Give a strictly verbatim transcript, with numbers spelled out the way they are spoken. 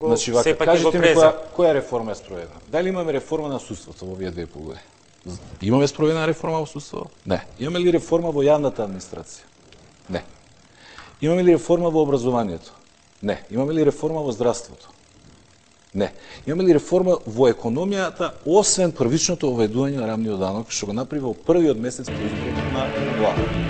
Значи, вака, кажете ми која, која реформа е спроведена? Дали имаме реформа на судството во овие две и пол години? Имаме спроведена реформа во судството? Не. Имаме ли реформа во јавната администрација? Не. Имаме ли реформа во образованието? Не. Имаме ли реформа во здравството? Не. Имаме ли реформа во економијата, освен првичното оведување на рамниот данок, што го направи во првиот месец по изборот на влада?